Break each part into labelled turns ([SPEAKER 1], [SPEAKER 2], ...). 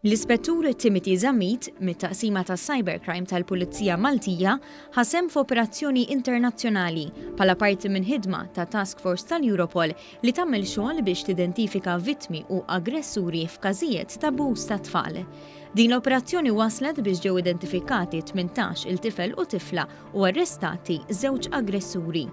[SPEAKER 1] L-Ispettur Timothy Zammit, mit-Taqsima tas-Cybercrime tal-Pulizija Maltija, ħa sehem f'operazzjoni internazzjonali bħala parti minn ħidma ta' Task Force tal-Europol li tagħmel xogħol biex tidentifika vittmi u aggressuri f'każijiet t'abbuż ta' tfal. Din l-operazzjoni wasslet biex ġew identifikati 18 il tifel u tifla u arrestati żewġ aggressuri.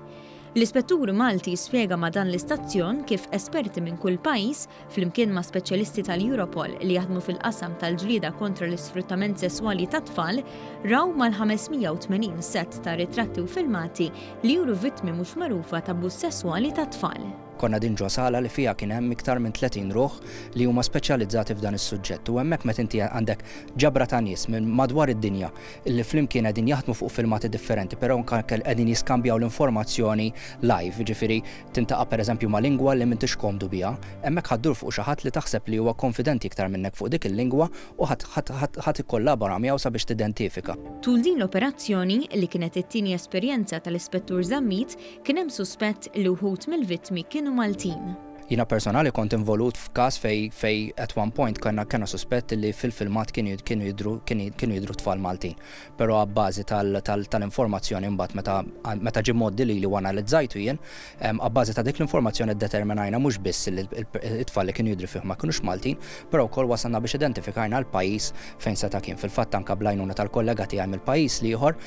[SPEAKER 1] L-Ispettur Malti spjega ma' dan l-istazzjon kif esperti minn kull pajjiż, flimkien ma' speċjalisti tal-Europol li jaħdmu fil-qasam tal-ġlieda kontra l-isfruttament sesswali tat-tfal, raw mal-580 sett ta' ritratti u filmati li juru vittmi mhux magħrufa t'abbuż sesswali tat-tfal.
[SPEAKER 2] Konna din ġo sala li fiha kien hemm iktar minn 30 ruħ li huma speċjalizzati f'dan is-suġġett u hemmhekk meta inti għandek ġabra ta' nies minn madwar id-dinja li flimkien qegħdin jaħdmu fuq filmati differenti però anke qegħdin jiskambjaw l-informazzjoni live, jiġifieri tintaqa' pereżempju ma' lingwa li m'intix komdu biha, hemmhekk ħa ddur fuq xi ħadd li taħseb li huwa konfidenti iktar minnek fuq dik il-lingwa u ħa tikkollabora miegħu sabiex tidentifika.
[SPEAKER 1] Tul din l-operazzjoni, li kienet it-tieni esperjenza tal-Ispettur Zammit, kien hemm suspett li wħud mill-vittmi kienu Maltin.
[SPEAKER 2] Jiena personali kont involut f'każ fejn fejn at one point kellna kellna suspett li fil-filmat kienu kienu jidhru kienu jidhru tfal Maltin. Però abbażi tal-informazzjoni mbagħad meta meta ġie mgħoddi lili u analizzajtu jien, abbażi ta' dik l-informazzjoni ddeterminajna mhux biss li t-tfal li kienu jidhru fih ma kinux Maltin, però wkoll wasalna biex identifikajna l-pajjiż fejn seta' kien. Fil-fatt anke bl-għajnuna tal-kollega tiegħi mill-pajjiż l-ieħor,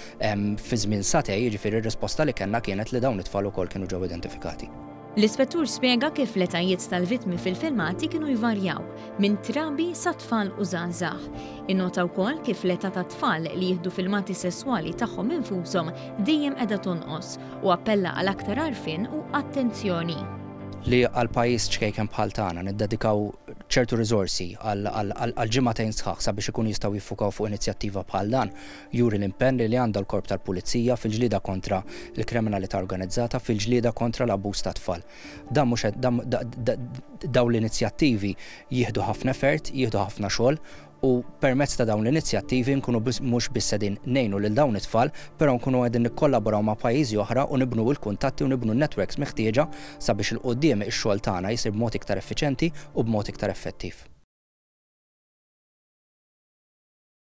[SPEAKER 2] fi żmien sagħtejn, jiġifieri r-risposta li kellna kienet li dawn it-tfal ukoll kienu ġew identifikati.
[SPEAKER 1] L-ispettur spjega kif l-etajiet tal-vittmi fil-filmati kienu jvarjaw, minn trabi sa tfal u żgħażagħ. Innota wkoll kif l-età tat-tfal li jieħdu filmati sesswali tagħhom infushom dejjem qiegħda tonqos u appella għal aktar għarfien u attenzjoni.
[SPEAKER 2] Li għal pajjiż ċkejken bħal tagħna niddedikaw ċertu riżorsi għal ġimagħtejn sħaħ sabiex ikunu jistgħu jiffukaw fuq inizjattiva bħal dan juri l-impenn li għandha l-Korp tal-Pulizija fil-ġlieda kontra l-kriminalità organizzata, fil-ġlieda kontra l-abbuż tat-tfal. Dan mhux qed, dawn l-inizjattivi jieħdu ħafna effort, jieħdu ħafna xogħol u permezz ta' dawn l-inizjattivi nkunu mhux biss qegħdin ngħinu lil dawn it-tfal, però nkunu qegħdin nikkollaboraw ma' pajjiżi oħra u nibnu l-kuntatti u nibnu n-networks meħtieġa sabiex 'il quddiem ix-xogħol tagħna jsir b'mod iktar effiċjenti u b'mod iktar effettiv.